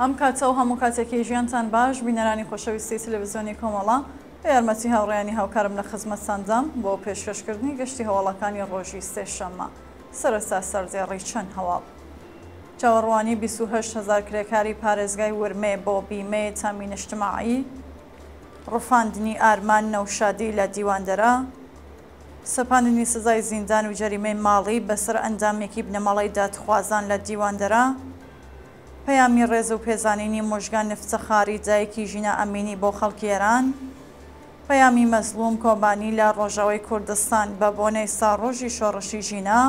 ئەم کاتە و هەموو کاتێکی ژیانتان باش بینەرانی خۆشەویستی تەلەڤزیۆنی کۆمەڵە بە یارمەتی هاوڕێیانی هاوکارم لە خزمەتتاندام بۆ پێشکەشکردنی گەشتی هەواڵەکانی ڕۆژی سێشەممە سەرەتا سەردێڕی چەند هەواڵ. چاوەڕوانی 28 هەزار کرێکاری پارێزگای ورمێ بۆ بیمەی تامی نیشتماعی، ڕفاندنی ئارمان نەوشادی لە دیواندەرە، سەپاندنی سزای زیندان و جەریمەی ماڵی بەسەر ئەندامێکی بنەماڵەی دادخوازان لە دیواندەرە، پەیامی ڕێز و پێزانینی موژگان ئیفتخاری دایکی ژینا ئەمینی بۆ خەڵکی ئێران، پەیامی مەزڵوم کۆبانی لە ڕۆژاوای کوردستان بە بۆنەی ساڵڕۆژی شۆڕشی ژینا،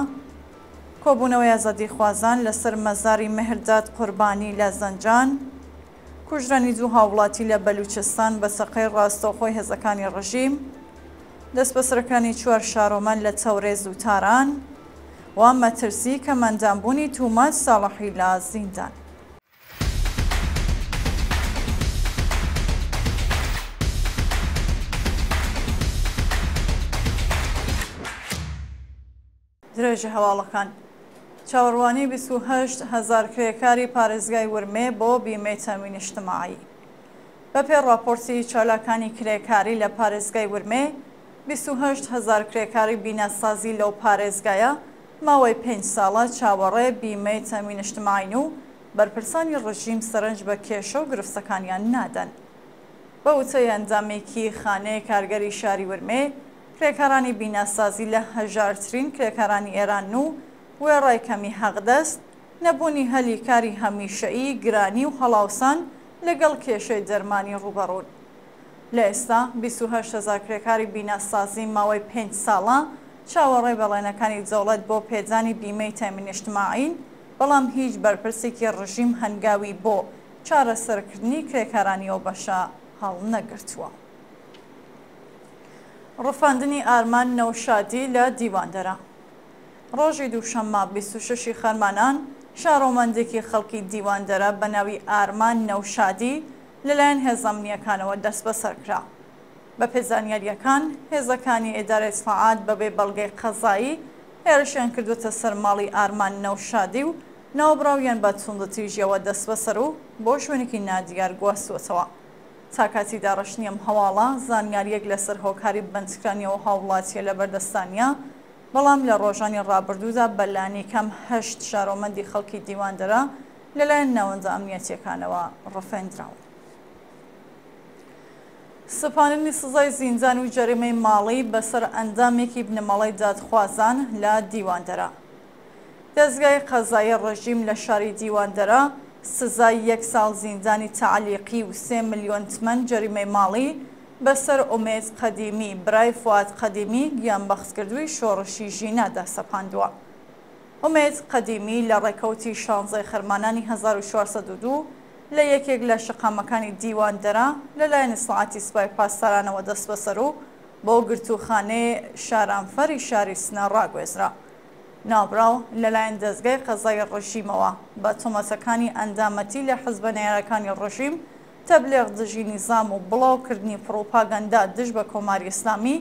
کۆبوونەوەی ئازادیخوازان لەسەر مەزاری مهرداد قوربانی لە زەنجان، کوژرانی دوو هاووڵاتی لە بەلوچستان بە چەقەی ڕاستەوخۆی هێزەکانی ڕژیم، دەستبەسەرکرانی چوار شارۆمەند لە تەورێز و تاران و مەترسی کەمئەندامبوونی توماج ساڵحی لە زیندان. درێژە هەواڵەکان. چاوەڕوانی 28 هەزار کرێکاری پارێزگای ورمێ بۆ بیمەی تەمین ئیجتماعی. بەپێی ڕاپۆرتی چالاکانی کرێکاری لە پارێزگای ورمێ، 28 هەزار کرێکاری بیناسازی لەو پارێزگایە ماوەی پێنج ساڵە چاوەڕێ بیمەی تەمین ئیجتماعین و بەرپرسانی ڕژیم سەرنج بە کێشە و گرفتەکانیان نادەن. بە وتەی ئەندامێکی خانەی کارگەری شاری ورمێ، کرێکارانی بیناسازی لە هەژارترین کرێکارانی ئێرانن و وێڕای کەمی حەقدەست، نەبوونی هەلی کاری هەمیشەیی، گرانی و هەڵاوسان لەگەڵ کێشەی دەرمانی ڕووبەڕوون. لە ئێستا 28 هەزار کرێکاری بیناسازی ماوەی پێنج ساڵە چاوەڕێی بەڵێنەکانی دەوڵەت بۆ پێدانی بیمەی تەئمین ئیجتماعین، بەڵام هیچ بەرپرسێکی ڕژیم هەنگاوی بۆ چارەسەرکردنی کرێکارانی ئەو بەشە هەڵنەگرتووە. ڕفاندنی ئارمان نەوشادی لە دیواندەرە. ڕۆژی دووشەممە 26 ی خەرمانان، شارۆمەندێکی خەڵکی دیواندەرە بە ناوی ئارمان نەوشادی لەلایەن هێزە ئەمنییەکانەوە دەستبەسەر کرا. بەپێی زانیارییەکان، هێزەکانی ئیدارەی ئیتڵاعات بەبێ بەڵگەی قەزایی هێرشیان کردووەتە سەر ماڵی ئارمان نەوشادی و ناوبراویان بە توندوتیژییەوە دەستبەسەر و بۆ شوێنێکی نادیار گواستووەتەوە. تا کاتی داڕشتنی ئەم هەواڵە، زانیارییەک لەسەر هۆکاری بەندکرانی ئەو هاووڵاتییە لەبەردەستدا نییە، بەڵام لە ڕۆژانی ڕابردوودا بە لانیکەم هەشت شارۆمەندی خەڵکی دیواندەرە لەلایەن ناوەندە ئەمنییەتییەکانەوە ڕفێندراون. سەپاندنی سزای زیندان و جەریمەی ماڵی بەسەر ئەندامێکی بنەماڵەی دادخوازان لە دیواندەرە. دەزگای قەزایی ڕژیم لە شاری دیواندەرە سزای یەک ساڵ زیندانی تەعلیقی و سێ ملیۆن تمەن جەریمەی ماڵی بەسەر ئومێد قەدیمی برای فوئاد قەدیمی گیانبەختکردووی شۆڕشی ژینادا سەپاندووە. ئومێد قەدیمی لە ڕێکەوتی شانزەی خەرمانانی 1402 لە یەکێک لە شەقامەکانی دیواندەرە لەلایەن ئیتڵاعاتی سپای پاسدارانەوە دەستبەسەر و بۆ گرتووخانەی شارامفەری شاری سنە ڕاگوێزرا. ناوبراو لەلایەن دەزگای قەزای ڕژیمەوە بە تۆمەتەکانی ئەندامەتی لە حزبە نەیارەکانی ڕژیم، تەبلیغ دژی نیزام و بڵاو کردنی پڕوپاگەندە دژ بە کۆماری ئیسلامی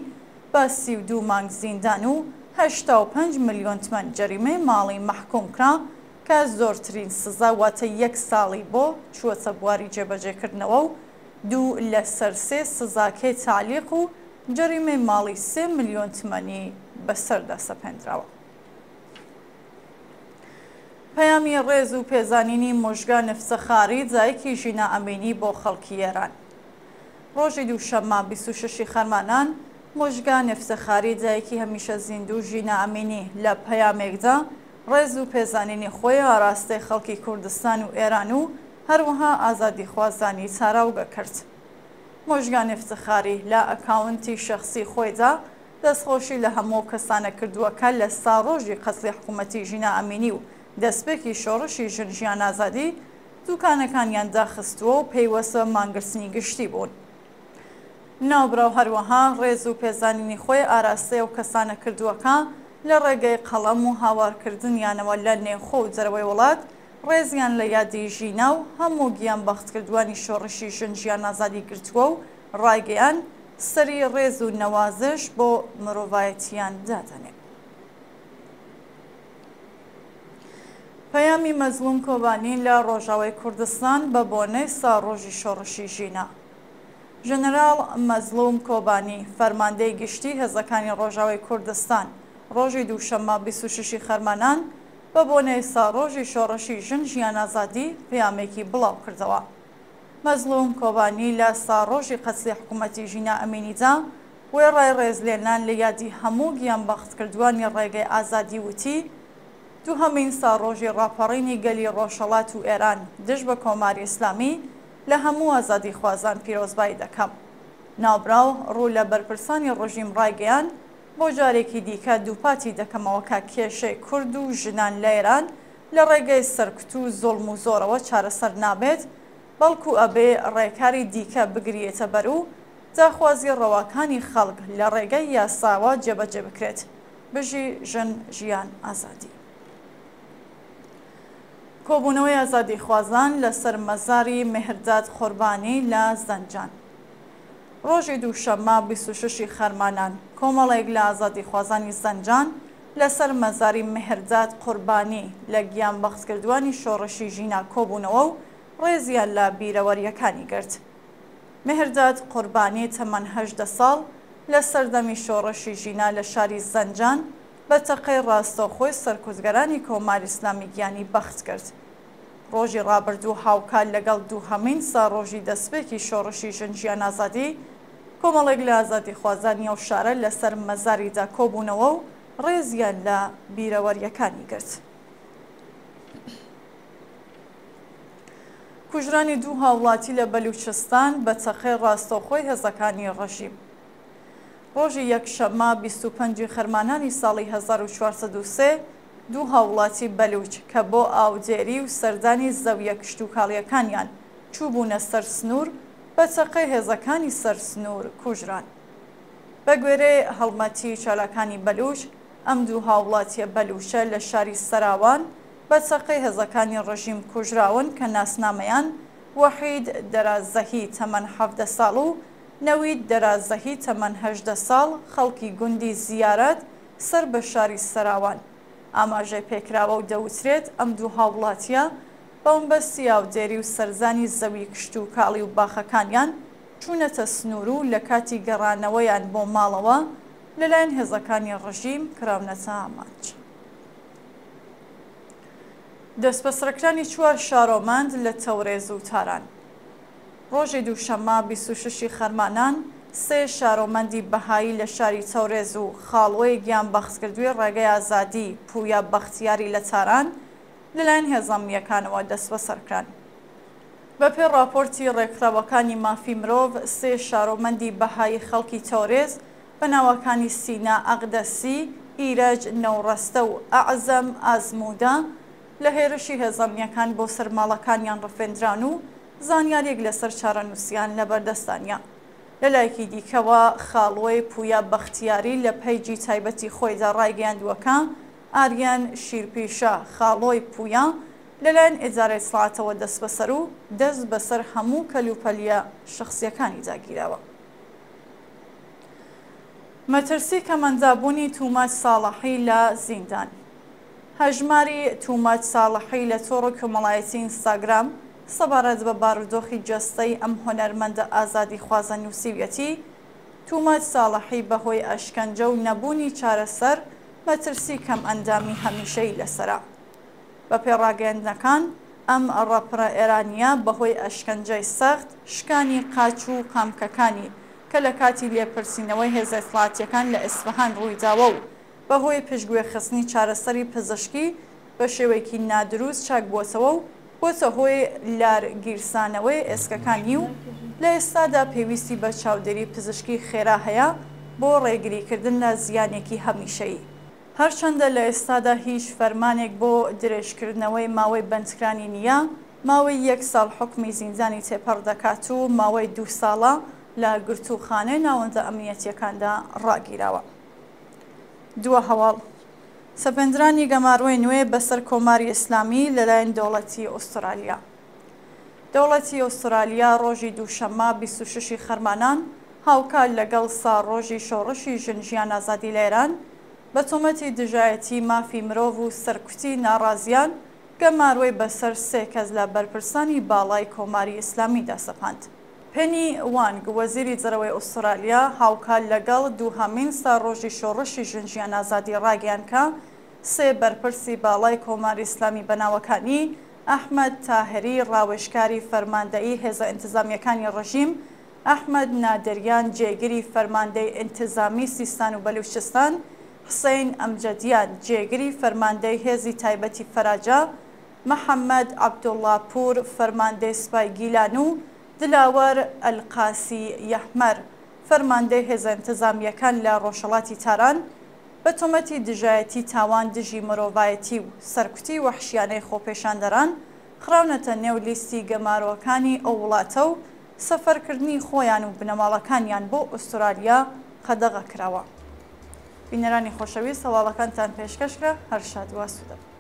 بە 32 مانگ زیندان و 85 ملیۆن تمەن جەریمەی ماڵی مەحکووم کرا کە زۆرترین سزا واتە یەک ساڵی بۆ چووەتە بواری جێبەجێکردنەوە و دوو لەسەر سێ سزاکەی تەعلیق و جەریمەی ماڵی سێ ملیۆن تمەنی بەسەردا سەپێندراوە. پەیامی ڕێز و پێزانینی موژگان ئیفتخاری دایکی ژینا ئەمینی بۆ خەڵکی ئێران. ڕۆژی دووشەممە 26 ی خەرمانان، موژگان ئیفتخاری دایکی هەمیشە زیندوو ژینا ئەمینی لە پەیامێکدا ڕێز و پێزانینی خۆی ئاراستەی خەڵکی کوردستان و ئێران و هەروەها ئازادیخوازانی تاراوگە کرد. موژگان ئیفتخاری لە ئەکاونتی شەخسی خۆیدا دەستخۆشی لە هەموو ئەو کەسانە کردووە کە لە ساڕۆژی قەتڵی حکوومەتی ژینا ئەمینی و دەستپێکی شۆڕشی ژن ژیان ئازادی دووکانەکانیان داخستووە و پەیوەست بە مانگرتنی گشتی بوون. ناوبراو هەروەها ڕێز و پێزانینی خۆی ئاراستەی ئەو کەسانە کردووە کە لە ڕێگەی قەڵەم و هاوارکردنیانەوە لە نێوخۆ و دەرەوەی وڵات ڕێزیان لە یادی ژینا و هەموو گیانبەختکردووانی شۆڕشی ژن ژیان ئازادی گرتووە و ڕایگەیاند، سەری ڕێز و نەوازش بۆ مرۆڤایەتییان دادەنێم. پەیامی مەزڵوم کۆبانی لە ڕۆژاوای کوردستان بە بۆنەی ساڵڕۆژی شۆڕشی ژینا. ژەنەراڵ مەزڵوم کۆبانی، فەرماندەی گشتی هێزەکانی ڕۆژاوای کوردستان، ڕۆژی دووشەممە 26 ی خەرمانان بە بۆنەی ساڵڕۆژی شۆڕشی ژن ژیان ئازادی پەیامێکی بڵاو کردەوە. مەزڵوم کۆبانی لە ساڵڕۆژی قەتلی حکوومەتی ژینا ئەمینیدا وێڕای ڕێزلێنان لە یادی هەموو گیانبەختکردووانی ڕێگەی ئازادی وتی، دووهەمین ساڵڕۆژی ڕاپەڕینی گەلی ڕۆژهەڵات و ئێران دژ بە کۆماری ئیسلامی لە هەموو ئازادیخوازان پیرۆزبایی دەکەم. ناوبراو ڕوو لە بەرپرسانی ڕژیم ڕایگەیاند، بۆ جارێکی دیکە دووپاتی دەکەمەوە کە کێشەی کورد و ژنان لە ئێران لە ڕێگەی سەرکوت و زوڵم و زۆرەوە چارەسەر نابێت، بەڵکوو ئەبێ ڕێکاری دیکە بگریێتە بەر و داخوازی ڕەواکانی خەڵک لە ڕێگەی یاساوە جێبەجێ بکرێت. بژی ژن ژیان ئازادی. کۆبوونەوەی ئازادیخوازان لەسەر مەزاری مێهرداد قوربانی لە زەنجان. ڕۆژی دووشەممە 26 ی خەرمانان، کۆمەڵێک لە ئازادیخوازانی زەنجان لەسەر مەزاری مێهرداد قوربانی لە گیانبەختکردووانی شۆڕشی ژینا کۆبوونەوە و ڕێزیان لە بیرەوەرییەکانی گرت. مێهرداد قوربانی تەمەن 18 ساڵ لە سەردەمی شۆڕشی ژینا لە شاری زەنجان بە تەقەی ڕاستەوخۆی سەرکوتگەرانی کۆماری ئیسلامی گیانی بەخت کرد. ڕۆژی ڕابردوو هاوکات لەگەڵ دووهەمین ساڕۆژی دەسپێکی شۆڕشی ژن ژیان ئازادی، کۆمەڵێک لە ئازادیخوازانی ئەو شارە لەسەر مەزاریدا کۆبوونەوە و ڕێزیان لە بیرەوەرییەکانی گرت. کوژرانی دوو هاوڵاتی لە بەلوچستان بە تەقەی ڕاستەوخۆی هێزەکانی ڕژیم. ڕۆژی یەکشەممە 25 ی خەرمانانی ساڵی 1403 دوو هاوڵاتی بەلوچ کە بۆ ئاودێری و سەردانی زەوییە کشتوکاڵییەکانیان چووبوونە سەر سنوور، بە تەقەی هێزەکانی سەر سنوور کوژران. بەگوێرەی هەڵمەتی چالاکانی بەلوچ، ئەم دوو هاوڵاتییە بەلوچە لە شاری سەراوان بە چەقەی هێزەکانی ڕژیم کوژراون کە ناسنامەیان وەحید دەرازەهی تەمەن 17 ساڵ و نەوید دەرازەهی تەمەن 18 ساڵ خەڵکی گوندی زیارەت سەر بە شاری سەراوان ئاماژەی پێکراوە و دەوترێت ئەم دوو هاوڵاتییە بەمەبەستی ئاودێری و سەرزانی زەوی کشتوکاڵی و باخەکانیان چوونەتە سنوور و لە کاتی گەڕانەوەیان بۆ ماڵەوە لەلایەن هێزەکانی ڕژیم کراونەتە ئامانج. دەستبەسەرکرانی چوار شارۆمەند لە تەورێز و تاران. ڕۆژی دووشەممە 26 ی خەرمانان، سێ شارۆمەندی بەهایی لە شاری تەورێز و خاڵۆی گیانبەختکردووی ڕێگەی ئازادی پویا بەختیاری لە تاران لەلایەن هێزە ئەمنییەکانەوە دەستبەسەرکران. بەپێی ڕاپۆرتی ڕێکخراوەکانی مافی مرۆڤ، سێ شارۆمەندی بەهایی خەڵکی تەورێز بە ناوەکانی سینا ئەقدەسی، ئیرەج نەوڕەستە و ئەعزەم ئازموودە لە هێرشی هێزە ئەمنییەکان بۆ سەر ماڵەکانیان ڕفێندران و زانیارییەک لەسەر چارەنووسیان لەبەردەستدا نییە. لەلایەکی دیکەوە، خاڵۆی پویا بەختیاری لە پەیجی تایبەتی خۆیدا ڕایگەیاندووە کە ئاریان شیرپیشە، خاڵۆی پویا، لەلایەن ئیدارەی ئیتڵاعاتەوە دەستبەسەر و دەست بەسەر هەموو کەلوپەلیە شەخسییەکانیدا گیراوە. مەترسی کەمئەندابوونی توماج ساڵحی لە زیندان. هەژماری توماج ساڵحی لە تۆڕی کۆمەڵایەتی ئینستاگرام سەبارەت بە بارودۆخی جەستەی ئەم هونەرمەندە ئازادیخوازە نووسیویەتی، توماج ساڵحی بەهۆی ئەشکەنجە و نەبوونی چارەسەر مەترسی کەمئەندامی هەمیشەیی لەسەرە. بەپێی ڕاگەیەندنەکان، ئەم ڕەپرە ئێرانییە بەهۆی ئەشکەنجەی سەخت، شکانی قاچ و قامکەکانی کە لە کاتی لێپرسینەوەی هێزە ئیتڵاعاتییەکان لە ئیسفەهان ڕوویداوە و بەهۆی پشتگوێخستنی چارەسەری پزشکی بە شێوەیەکی نادروست چاکبووەتەوە و بۆتە هۆی لار گیرسانەوەی ئێسکەکانی و لە ئێستادا پێویستی بە چاودێری پزشکی خێرا هەیە بۆ ڕێگریکردن لە زیانێکی هەمیشەیی. هەرچەندە لە ئێستادا هیچ فەرمانێک بۆ درێژکردنەوەی ماوەی بەندکرانی نییە، ماوەی یەک ساڵ حوکمی زیندانی تێپەڕ دەکات و ماوەی دوو ساڵە لە گرتووخانەی ناوەندە ئەمنیەتییەکاندا ڕاگیراوە. دوا هەواڵ، سەپێندرانی گەمارۆی نوێ بەسەر کۆماری ئیسلامی لەلایەن دەوڵەتی ئوسترالیا. دەوڵەتی ئوسترالیا ڕۆژی دووشەممە 26 ی خەرمانان هاوکات لەگەڵ ساڵڕۆژی شۆڕشی ژن ژیان ئازادی لە ئێران، بە تۆمەتی دژایەتی مافی مرۆڤ و سەرکوتی ناڕازیان گەمارۆی بەسەر سێ کەس لە بەرپرسانی باڵای کۆماری ئیسلامیدا سەپاند. پێنی وانگ، وەزیری دەرەوەی ئوسترالیا، هاوکات لەگەڵ دووهەمین ساڵڕۆژی شۆڕشی ژن ژیان ئازادی ڕاگەیاند کە سێ بەرپرسی باڵای کۆماری ئیسلامی بە ناوەکانی، ئەحمەد تاهری ڕاوێژکاری فەرماندەیی هێزە ئینتزامییەکانی ڕژیم، ئەحمەد نادریان جێگری فەرماندەی ئینتزامی سیستان و بەلوچستان، حسەین ئەمجەدیان جێگری فەرماندەی هێزی تایبەتی فەراجا، محەمەد عەبدوڵڵاپوور فەرماندەی سوپای گیلان و دلاوەر ئەلقاسی یەحمەر فەرماندەی هێزە ئینتزامییەکان لە ڕۆژهەڵاتی تاران بە تۆمەتی دژایەتی تاوان دژی مرۆڤایەتی و سەرکوتی وەحشیانەی خۆپێشاندەران خراونەتە نێو لیستی گەمارۆکانی ئەو وڵاتە و سەفەرکردنی خۆیان و بنەماڵەکانیان بۆ ئوسترالیا قەدەغە کراوە. بینەرانی خۆشەویست هەواڵەکانتان پێشکەش کرا هەر شاد و ئاسوودە بن.